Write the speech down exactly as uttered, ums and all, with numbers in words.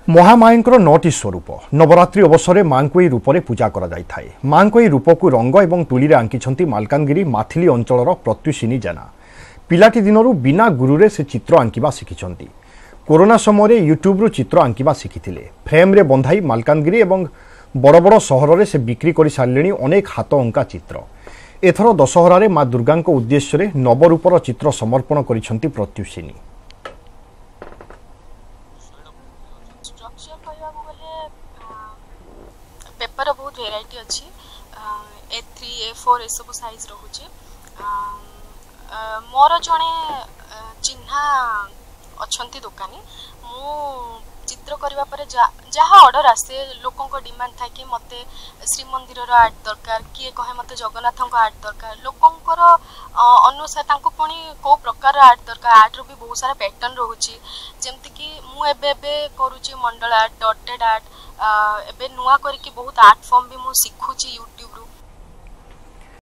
ମହାମାୟାଙ୍କର ନଅଟି ସ୍ୱରୂପ। ନବରାତ୍ରି ଅବସରରେ ମାଙ୍କୁ ଏହି ରୂପରେ ପୂଜା କରାଯାଇଥାଏ। ମାଙ୍କ ଏହି ରୂପକୁ ରଙ୍ଗ ଏବଂ ତୁଳିରେ ଆଙ୍କିଛନ୍ତି ମାଲକାନଗିରି ମାଥିଲି ଅଞ୍ଚଳର ପ୍ରତ୍ୟୁଷିନୀ ଜେନା। ପିଲାଟି ଦିନରୁ ବିନା ଗୁରୁରେ ସେ ଚିତ୍ର ଆଙ୍କିବା ଶିଖିଛନ୍ତି। କରୋନା ସମୟରେ ୟୁଟ୍ୟୁବରୁ ଚିତ୍ର ଆଙ୍କିବା ଶିଖିଥିଲେ। ଫ୍ରେମ୍ରେ ବନ୍ଧାଇ ମାଲକାନଗିରି ଏବଂ ବଡ଼ ବଡ଼ ସହରରେ ସେ ବିକ୍ରି କରିସାରିଲେଣି ଅନେକ ହାତ ଅଙ୍କା ଚିତ୍ର। ଏଥର ଦଶହରାରେ ମା ଦୁର୍ଗାଙ୍କ ଉଦ୍ଦେଶ୍ୟରେ ନବରୂପର ଚିତ୍ର ସମର୍ପଣ କରିଛନ୍ତି ପ୍ରତ୍ୟୁଷିନୀ। ଷ୍ଟ୍ରକ୍ଚର କହିବାକୁ ଗଲେ ପେପର ବହୁତ ଭେରାଇଟି ଅଛି, ଏ ଥ୍ରୀ, ଏ ଫୋର୍ ଏସବୁ ସାଇଜ୍ ରହୁଛି। ମୋର ଜଣେ ଚିହ୍ନା ଅଛନ୍ତି ଦୋକାନୀ। ମୁଁ ଚିତ୍ର କରିବା ପରେ ଯାହା ଅର୍ଡ଼ର ଆସେ, ଲୋକଙ୍କ ଡିମାଣ୍ଡ ଥାଏ କି ମୋତେ ଶ୍ରୀମନ୍ଦିରର ଆର୍ଟ ଦରକାର, କିଏ କହେ ମୋତେ ଜଗନ୍ନାଥଙ୍କ ଆର୍ଟ ଦରକାର। ଲୋକଙ୍କର ଅନୁସାରେ ତାଙ୍କୁ ପୁଣି କେଉଁ ପ୍ରକାରର ଆର୍ଟ ଦରକାର, ଆର୍ଟର ବି ବହୁତ ସାରା ପ୍ୟାଟର୍ନ ରହୁଛି। ଯେମିତିକି ମୁଁ ଏବେ ଏବେ କରୁଛି ମଣ୍ଡଳ ଆର୍ଟ, ଡଟେଡ୍ ଆର୍ଟ, ଏବେ ନୂଆ କରିକି ବହୁତ ଆର୍ଟ ଫର୍ମ ବି ମୁଁ ଶିଖୁଛି ୟୁଟ୍ୟୁବରୁ।